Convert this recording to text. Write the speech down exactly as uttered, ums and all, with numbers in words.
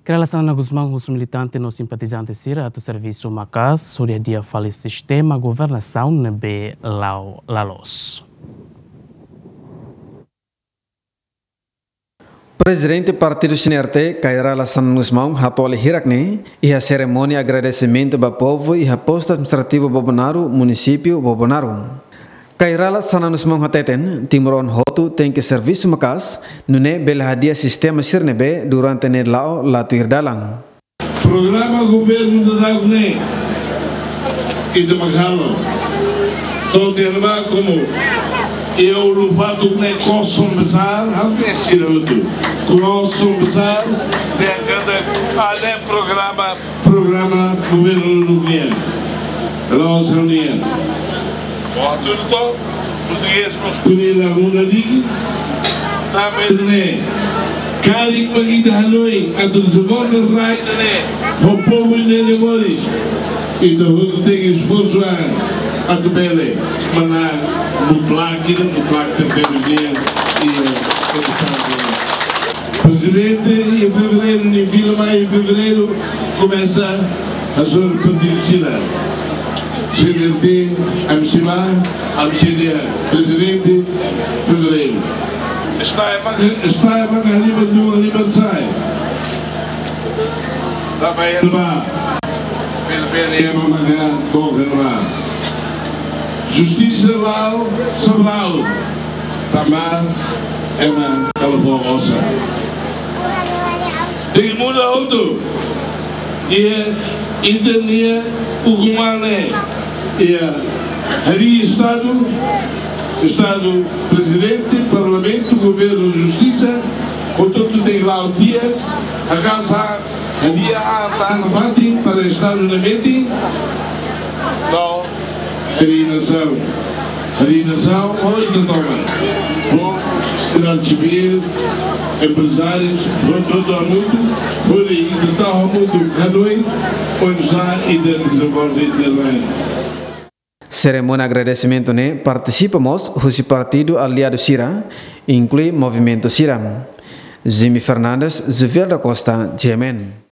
Kay Rala Xanana Gusmão husu militante no simpatizante sira atu servisu maka'as hodi hadi'a fali sistema governasaun ne'ebé la'o la loos. Prezidente Partidu CNRT, Kay Rala Xanana Gusmão, hato'o hirak-ne'e iha serimónia agradesimentu ba povu iha Postu Administrativu Bobonaro, Munisípiu Bobonaro. Kay Rala Xanana Gusmão hateten, timoroan hotu tenke servisu maka'as, nune'e bele hadi'a sistema sira ne'ebé durante ne'e la'o la tuir dalan. Programa governu daudaun ne'e, ita mak halo. To'o tiha ona ba komu, iha ulun-fatuk ne'e kosong besar, hampir sira hotu. Kosong besar, ne'e kada ada programa, programa governu daudaun nian. La'ós ha'u-nian. Waktu itu, portugés mós ko'alia la muda diki. Tanba ne'e, karik mak ita hanoin atu dezenvolve rai ida-ne'e ho povu ida-ne'e moris, ita hotu tenke esforsu an atu bele manán mutlak ida, mutlak tertentu nian, iha Estadu. Prezidente, iha fevereiru, nia fila mai iha fevereiru, komesa hasoru partidu sira. CNRT, M C ba, M C D, prezidente, fevereiru. Está ema, está ema ka liba tu, liba sai. Também ema, ema maka bom, ema. Justisa la'o, sabrau. Tanba ema kala fó osan. Tenke muda hotu. Iha ita-nia ukun-an ne'e. Iha hadi'a Estadu, Estadu, Prezidente, Parlamentu, Governu, Justisa, hotu-hotu tenke la'o tiha, haka'as an, hadi'a an tan fatin para Estadu ne'e metin. No. Hadi'a nasaun. Hadi'a nasaun, hotu toma. Povu, sosiedade sivíl, emprezárius, hotu-hotu hamutuk, hodi ita tau hamutuk, hanoin, oinsá ita dezenvolve ita-nia rai. Serimónia agradesimentu ne'e partisipa mós husi partidu aliadu sira, inklui movimentu sira. Jimmy Fernandes, Juvel da Costa, G M N.